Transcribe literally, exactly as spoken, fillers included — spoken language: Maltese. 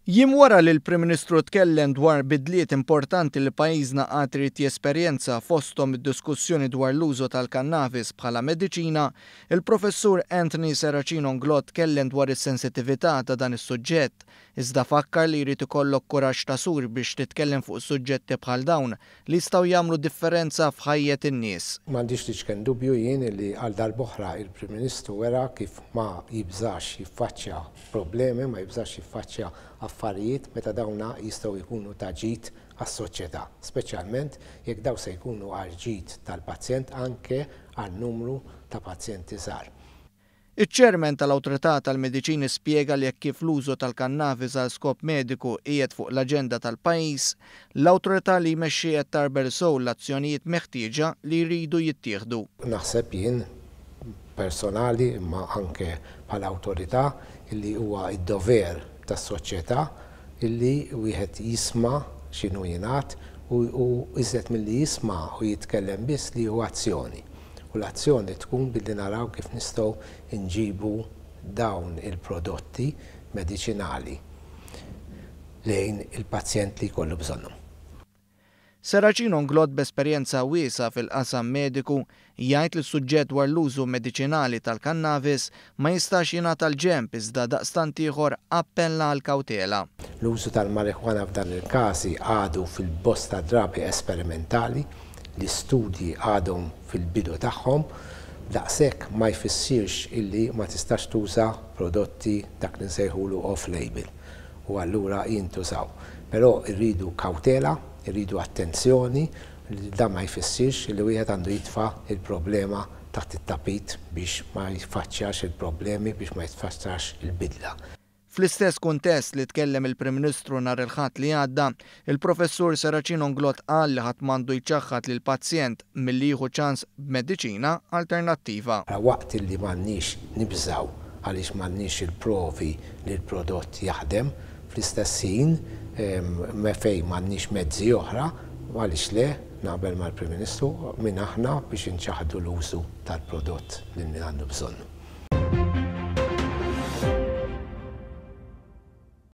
Jiem wara li l-Prim Ministru tkellem dwar bidliet importanti li pajjiżna għad irid jesperjenza, fosthom id-diskussjoni dwar l-użu tal-kannabis bħala mediċina, il-Professur Anthony Serracino Inglott tkellem dwar is-sensitività ta' dan is-suġġett, iżda fakkar li jrid ikollok kuraġġ ta' sur biex titkellem fuq suġġetti bħal dawn li jistgħu jagħmlu differenza f'ħajjet in-nies. M'għandix l-iċken dubju jien li għal darb'oħra il-Prim Ministru wera kif ma jibżax jiffaċċja problemi, ma jibżax jiffaċċja affarijiet meta dawna jistgħu jkunu ta' ġid għas-soċjetà, speċjalment jekk daw se jkunu għal ġid tal-pazjent, anke għal numru ta' pazjenti żgħar. Iċ-ċermen tal-Awtorità tal-Mediċini spjega li jekk kif l-użu tal-kannabis għal skop mediku qiegħed fuq l-aġenda tal-pajjiż, l-awtorità li jmexxi qed tgħarbel sew l-azzjonijiet meħtieġa li jridu jittieħdu. Naħseb jien personali, imma anke bħala awtorità, illi huwa id-dover tas-soċjetà illi wieħed jisma' x'inhu jingħad u iżjed milli jisma' u jitkellem biss, li hu azzjoni. U l-azzjoni tkun billi naraw kif nistgħu nġibu dawn il-prodotti mediċinali lejn il-pazjent li jkollu bżonnhom. Serracino Inglott, b'esperjenza wiesgħa fil-qasam mediku, jgħid li s-suġġett dwar l-użu mediċinali tal-kannabis ma jistax jingħata l-ġenb, iżda daqstant ieħor appella għal kawtela. L-użu tal-marijuana f'dan il-każi għadu fil-bosta drabi esperimentali, l-istudji għadhom fil-bidu tagħhom, daqshekk ma jfissirx illi ma tistax tuża prodotti dak li nsejħulu off-label u allura jintużaw. Però rridu kawtela, irridu attenzjoni, li dan ma jfissirx li wieħed għandu jitfa' il-problema taħt it-tapit biex ma jfaċċjax il-problemi, biex ma jitfaċċax il-bidla. Fl-istess kuntest li tkellem il-Prim Ministru nhar il-Ħadd li għadda, il-Professur Serracino Inglott qal li ħadd m'għandu jċaħħad lil pazjent milli jieħu ċans b'mediċina alternattiva. Waqt li m'għandniex nibżaw għaliex m'għandniex il-provi li l-prodott jaħdem, fl-istess ħin fejn m'għandniex mezzi oħra, għaliex le, naqbel mal-Prim Ministru, min aħna biex inċaħdu l-użu tal-prodott li għandu bżonnu.